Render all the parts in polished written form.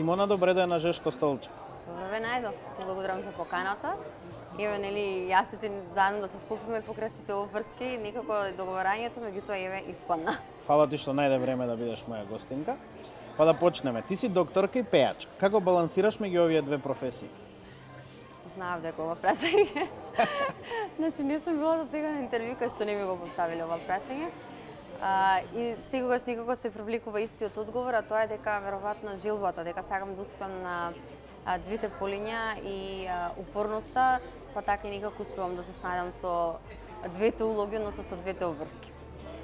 Симона, добре да е на Жешко столче. Добре ве најдов. Благодарам за поканата. Еве, нели, јас и ти заедно да се скупиме покрај сите обврски, некако договарањето, меѓутоа еве испадна. Фала ти што најде време да бидеш моја гостинка. Па да почнеме. Ти си докторка и пејачка. Како балансираш меѓу овие две професии? Знаев дека ова прашање. Значи, не сум била до сега на интервју кај што не ми го поставиле ова прашање. И секогаш некако се привлекува истиот одговор, а тоа е дека веројатно желбата, дека сакам да успеам на двете полиња и упорноста, па така и некако успевам да се снајдам со двете улоги, односно со двете обврски.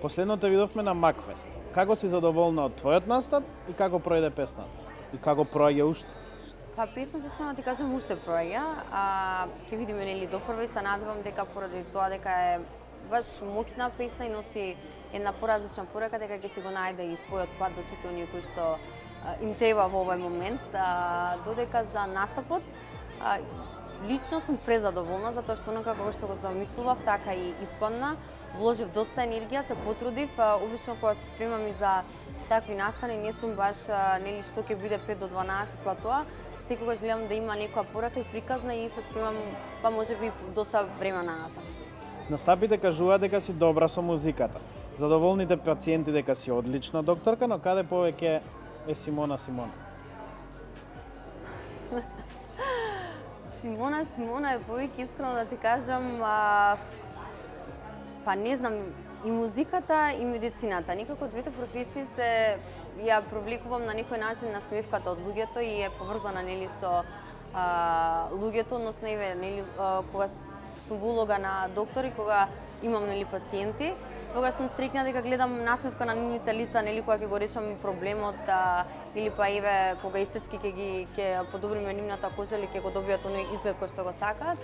Последно те видовме на Макфест. Како си задоволна од твојот настап и како пројде песната? И како проаѓа уште? Па песната, искрено ти кажам, уште проаѓа. Ќе видиме, нели, допрва и се надевам дека поради тоа дека е баш моќна песна и носи една поразлична порека, дека ќе си го најде и својот пат до сите оние кои што им треба во овој момент. Додека за настапот, лично сум презадоволна, затоа што онака како што го замислував, така и испадна. Вложив доста енергија, се потрудив. Обично кога се спремам и за такви настани, не сум баш, нели, што ќе биде 5 до 12 платоа. Секогаш гледам да има некоја порека и приказна и се спремам, па можеби доста време на насад. Настапите кажуваат дека си добра со музиката. Задоволните пациенти дека си одлична докторка, но каде повеќе е Симона? Симона е повеќе, искрено да ти кажам, па не знам, и музиката и медицината. Некако двете професии се ја привлекувам на некој начин на смевката од луѓето и е поврзана, нели, со луѓето, односно еве, нели, кога сум во улога на доктор и кога имам, нели, пациенти, тогаш сум среќна дека гледам насмевка на нивните лица, нели, кога ќе го решам проблемот, или па еве кога естетски ќе подобриме нивната кожа или ќе го добијат оној изглед кој што го сакаат.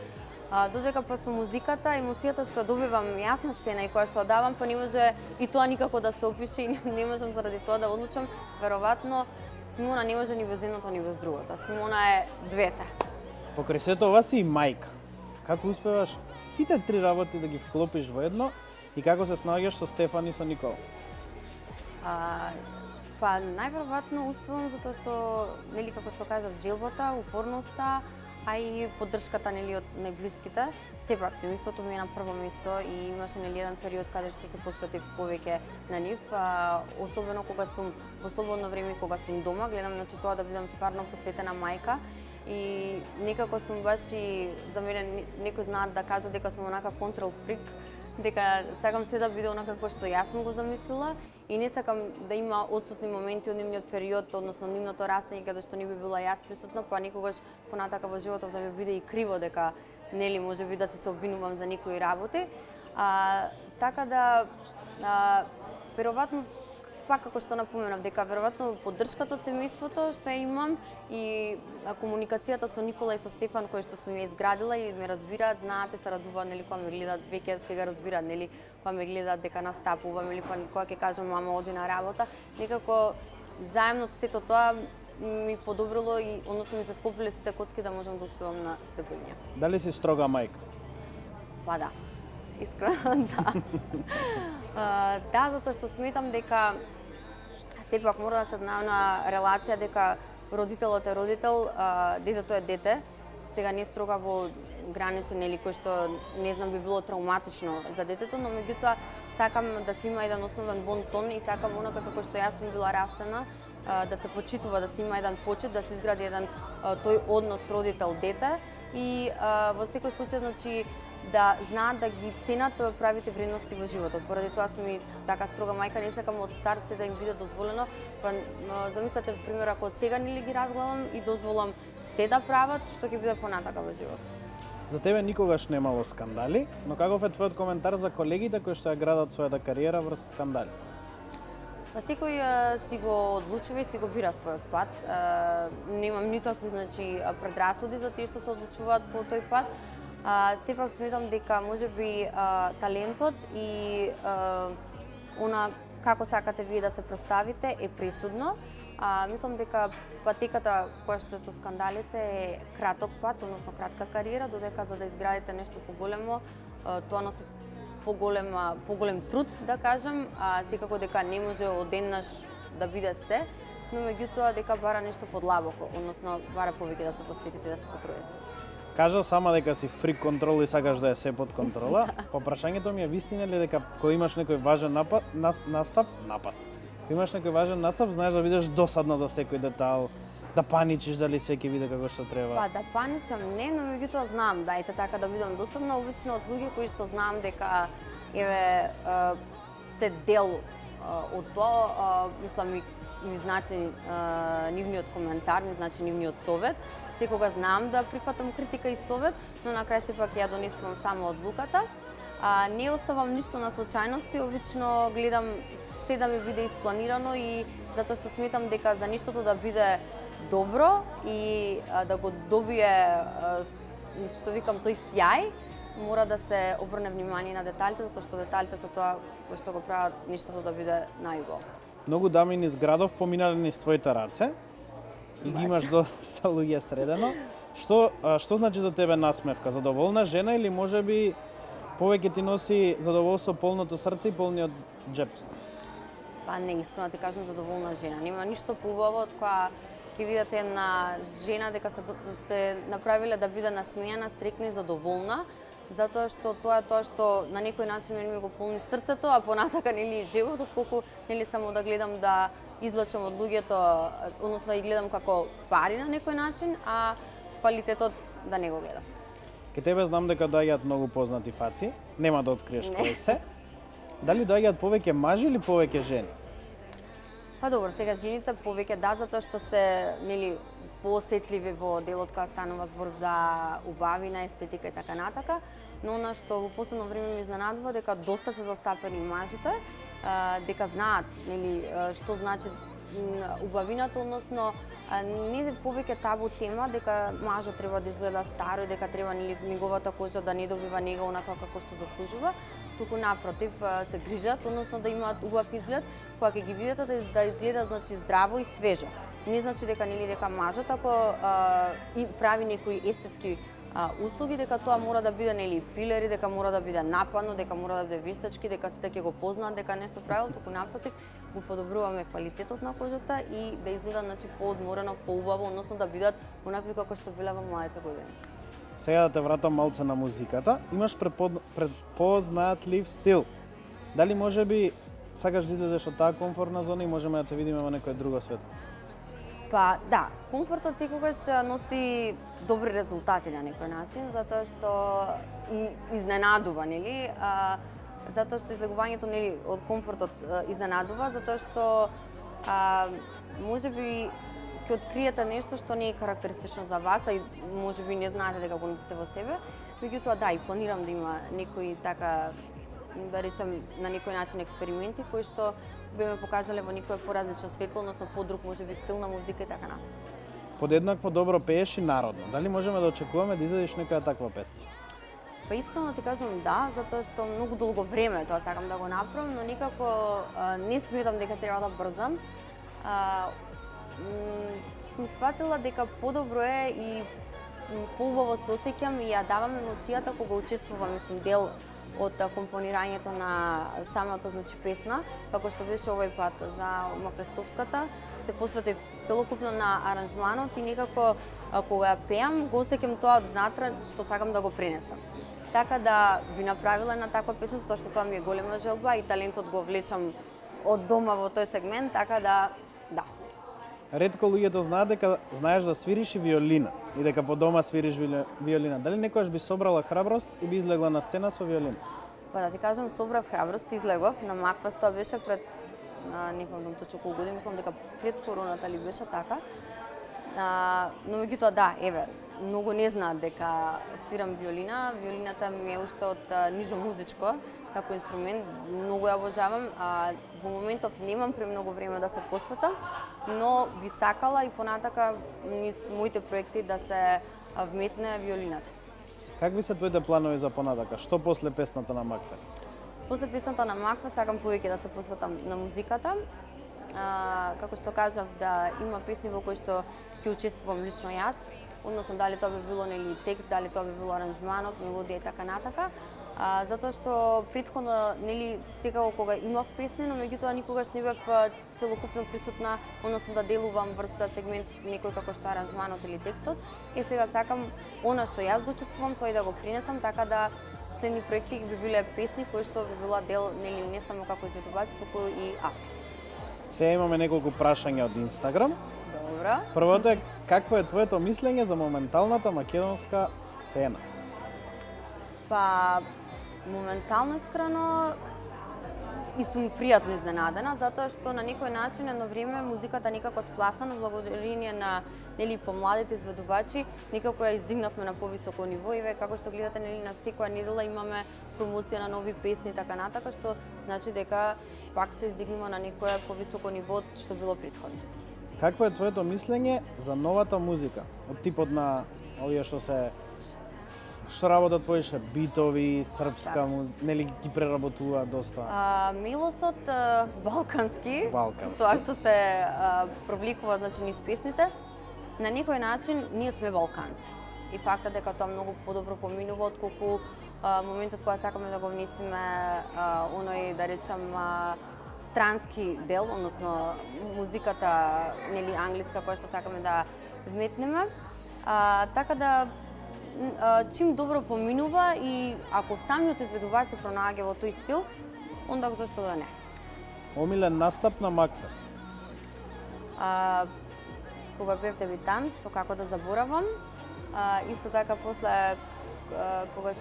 Додека па со музиката, емоцијата што добивам јас на сцена и која што давам, па не може и тоа никако да се опише и не можам заради тоа да одлучам. Веројатно Симона не може ни без едното ни без другото. Симона е двете. Покрај сето ова си и мајка. Како успеваш сите три работи да ги вклопиш во едно и како се снаоѓаш со Стефан и со Никола? Па најверојатно успевам затоа што, нели, како што кажав, желбата, упорноста, а и поддршката, нели, од најблиските. Сепак семејството ми е на прво место и имаше, нели, еден период каде што се посветив повеќе на нив, особено кога сум во слободно време, кога сум дома, гледам, значи, тоа да бидам стварно посветена мајка. И некако сум баш и за мене некои знаат да кажат дека сум онака контрол фрик, дека сакам се да биде онака како што јас сум го замислила и не сакам да има отсутни моменти од нивниот период, односно нивното растење каде што не би била јас присутна, па некогаш понатака во животот да ми биде и криво дека, нели, можеби да се обвинувам за некои работи. Така да веројатно, пак како што напоменав, дека веројатно поддршката од семејството што ја имам и комуникацијата со Никола и со Стефан кој што сум ја изградила и ме разбираат, знаат и се радуваат, нели, кога ме гледаат, веќе сега разбираат, нели, кога ме гледаат дека настапувам или кога ќе кажам мама оди на работа, некако заедно со сето тоа ми подобрило и односно ми се склопиле сите коцки да можам да успевам на сите полиња. Дали си строга мајка? Па да. Искрено да. Да, затоа што сметам дека сепак мора да се знае на релација дека родителот е родител, детето е дете. Сега не строга во граници, нели, кој што не знам би било травматично за детето, но меѓутоа сакам да се има еден основен бон тон и сакам онака како што јас сум била растена, да се почитува, да се има еден почит, да се изгради еден тој однос родител-дете и во секој случај, значи, да знаат да ги ценат правите вредности во животот. Поради тоа сум и така строга мајка, не сакам од старт се да им биде дозволено. Па замислете, пример, ако сега нели ги разгледам и дозволам се да прават, што ќе биде понатака во животот. За тебе никогаш немало скандали, но каков е твојот коментар за колегите кои што ја градат својата кариера врз скандали? Па секој си го одлучува и си го бира својот пат. Немам никакви, значи, предрасуди за тие што се одлучуваат по тој пат. Сепак сметам дека можеби талентот и она како сакате вие да се представите е пресудно. Мислам дека патеката која што е со скандалите е краток пат, односно кратка кариера, додека за да изградите нешто поголемо, тоа носи поголем труд, да кажам, секако дека не може одеднаш да биде се. но меѓутоа дека бара нешто подлабоко, односно бара повеќе да се посветите, да се потрудите. Кажа сама дека си фрик контрол и сакаш да е се под контрола. По прашањето ми е вистина ли дека кога имаш некој важен настап, кога имаш некој важен настап, знаеш да бидеш досадна за секој детал, да паничиш дали се ќе биде како што треба. Па да паничам не, но меѓутоа знам да ете така да бидам досадна, обично од луѓе кои што знам дека еве се дел од тоа, мислам ми значи нивниот коментар, ми значи нивниот совет. Секога знам да прифатам критика и совет, но на крај сепак ја донесувам само одлуката. Не оставам ништо на случајности, обично гледам се да ми биде испланирано и затоа што сметам дека за нештото да биде добро и да го добие, што викам, тој сјај, мора да се обрне внимание на деталите, затоа што деталите се тоа кои што го прават нештото да биде најубаво. Многу дами низ градов поминале низ твоите раце и ги имаш доста луѓе средено. Што значи за тебе насмевка? Задоволна жена или можеби повеќе ти носи задоволство полното срце и полниот џеп? Па не, искрено ти кажам, задоволна жена. Нема ништо поубаво од која ќе видите една жена дека сте направиле да биде насмејана, срекна и задоволна, затоа што тоа е тоа што на некој начин ми го полни срцето, а понатака нели џебот, отколку нели само да гледам да излачам од луѓето, односно да ги гледам како пари на некој начин, а квалитетот да не го гледам. Ке тебе знам дека доаѓаат многу познати фаци, нема да откриеш кои се. Дали доаѓаат повеќе мажи или повеќе жени? Па добро, сега жените повеќе да, затоа што се нели поосетливи во делот кога станува збор за убавина, естетика и така натака, но она што во последно време ме изненадува дека доста се застапени мажите, дека знаат нели што значи убавината, односно не е повеќе табу тема дека мажот треба да изгледа старо и дека треба нели неговата кожа да не добива нега онака како што заслужува, туку напротив се грижат, односно да имаат убав изглед, кога ќе ги видите да изгледа значи здраво и свежо. Не значи дека нели дека мажот ако и прави некои естетски услуги, дека тоа мора да биде нели филери, дека мора да биде нападно, дека мора да биде вештачки, дека сите ќе го познаат дека нешто правил, туку напротив го подобруваме квалитетот на кожата и да изгледа значи поодморено, поубаво, односно да бидат онакви како што биле во младите години. Сега да те вратам малце на музиката. Имаш препознатлив стил. Дали можеби сакаш да излезеш од таа комфортна зона и можеме да те видиме во некој друго свет? Па да, комфортот секогаш носи добри резултати на некој начин, затоа што и изненадува, нели? Затоа што излегувањето нели од комфортот изненадува, затоа што можеби ќе откриете нешто што не е карактеристично за вас, а и можеби не знаете дека го носите во себе. Меѓутоа да, и планирам да има некои така, да речем, на некој начин експерименти кои што би ме покажале во некој поразлично светло, односно подруг можеби стил на музика и така натаму. Подеднакво добро пееш и народно. Дали можеме да очекуваме да изедеш некоја таква песна? Па искрено ти кажам да, затоа што многу долго време тоа сакам да го направам, но никако не сметам дека треба да брзам. Сум сватила дека подобро е и поубаво се осеќам и ја давам емоцијата кога учествувам, мислам, дел од компонирањето на самата значи песна, како што беше овој пат за Макфестовската, се посветив целокупно на аранжманот и некако кога ја пеам го осеќам тоа од внатре што сакам да го пренесам. Така да би направила една таква песна, затоа што тоа ми е голема желба и талентот го влечам од дома во тој сегмент, така да. Ретко луѓето знаат дека знаеш да свириш и виолина и дека по дома свириш виолина. Дали некогаш би собрала храброст и би излегла на сцена со виолина? Па да ти кажам, собрав храброст и излегов на Макфест, тоа беше пред не помнам точно колку години, мислам дека пред короната ли беше така. Но меѓутоа да, еве, многу не знаат дека свирам виолина. Виолината ми е уште од нижо музичко како инструмент, многу ја обожавам. Во моментов немам премногу време да се посветам, но би сакала и понатака низ моите проекти да се вметне виолината. Какви се твоите планови за понатака? Што после песната на Макфест? После песната на Макфест сакам повеќе да се посветам на музиката. Како што кажав, да има песни во кои што ќе учествувам лично јас, односно дали тоа би било нели текст, дали тоа би било аранжманот, мелодија и така натака. затоа што претходно нели секако кога имав песни, но меѓутоа никогаш не бев целокупно присутна, односно да делувам врз сегмент некој како што аранжманот или текстот. И сега сакам она што јас го чувствувам, тоа и да го принесам, така да следни проекти би биле песни кои што би била дел нели не само како изведувач, туку и автор. Сега имаме неколку прашања од Инстаграм. Добро. Првото е какво е твоето мислење за моменталната македонска сцена? Па моментално искрено и сум пријатно изненадена, затоа што на некој начин едно време музиката некако спласнана благодарение на нели помладите изведувачи, некако ја издигнавме на повисоко ниво и како што гледате нели на секоја недела имаме промоција на нови песни така натака, што значи дека пак се издигнува на некое повисоко ниво што било претходно. Какво е твоето мислење за новата музика? Од типот на овие што работат повеќе битови, српска, нели ги преработува доста? Мелосот балкански, Балкански. тоа што се провликува значи низ песните, на некој начин ние сме балканци. И фактот дека тоа многу подобро поминува отколку моментот кога сакаме да го внесеме оној да речам странски дел, односно музиката нели англиска која што сакаме да вметнеме. Така да чим добро поминува и ако самиот изведувач се пронаѓа во тој стил, онда зашто да не. Омилен настап на Макфест? Кога бев дебитант, со Како да заборавам, исто така после кога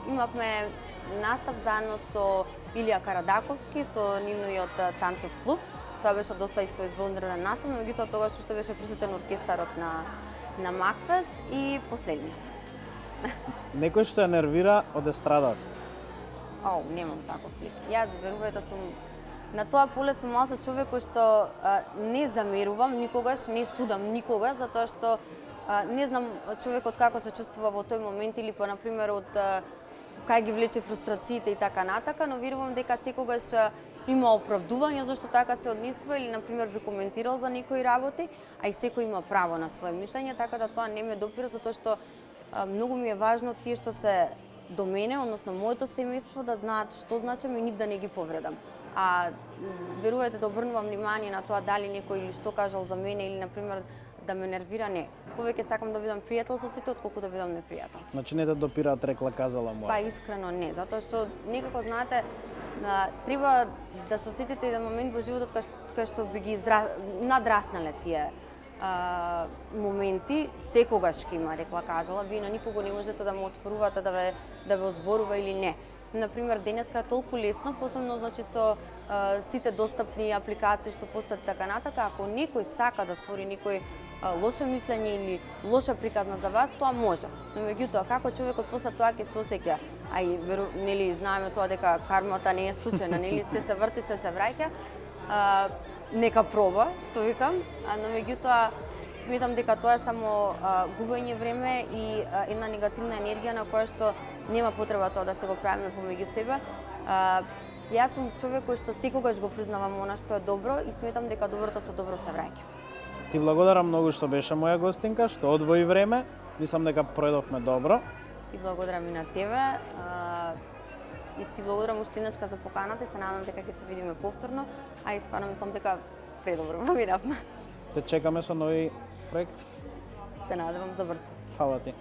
имавме настап заедно со Илија Карадаковски, со нивниот танцов клуб. Тоа беше доста исто извонреден настап, но меѓутоа тогаш уште беше присутен оркестарот на Макфест и последниот. Некој што ја нервира од естрадата? Немам таков лик. Јас, верувајте, сум на тоа поле сум малку човек кој што не замерувам никогаш, не судам никогаш, затоа што не знам човекот како се чувствува во тој момент или па на пример од кај ги влече фрустрациите и така натака, но верувам дека секогаш има оправдување зашто така се однесува или на пример би коментирал за некои работи, а и секој има право на свое мишлење, така да тоа не ме допира затоа што многу ми е важно тие што се до мене, односно моето семејство да знаат што значам и нив да не ги повредам. Верувајте да обрнувам внимание на тоа дали некој или што кажал за мене или на пример да ме нервира, не. Повеќе сакам да бидам пријател со сите отколку да бидам непријател. Значи не те допираат рекла казала моја? Па искрено не, затоа што некако знаете треба да се осетите еден момент во животот кај што би ги надраснале тие моменти, секогаш ќе има рекла казала, вие на никого не можете да му оспорувате да ве озборува или не. Например, денеска е толку лесно, посебно значи со сите достапни апликации што постојат така натака, ако некој сака да створи некој лошо мислење или лоша приказна за вас, тоа може. Но меѓутоа како човекот после тоа ќе се осеќа, а и нели знаеме тоа дека кармата не е случајна, нели се врти, се враќа, нека проба, што викам, но меѓутоа сметам дека тоа е само губење време и една негативна енергија на која што нема потреба тоа да се го правиме помеѓу себе. Јас сум човек кој што секогаш го признавам она што е добро и сметам дека доброто со добро се враќа. Ти благодарам многу што беше моја гостинка, што одвои време. Мислам дека пројдовме добро. Ти благодарам и на тебе. И ти благодарам уште еднашка за поканата и се надам дека ќе се видиме повторно, а и стварно мислам дека предобро проминавме. Те чекаме со нови проекти. Се надевам за брзо. Фала ти.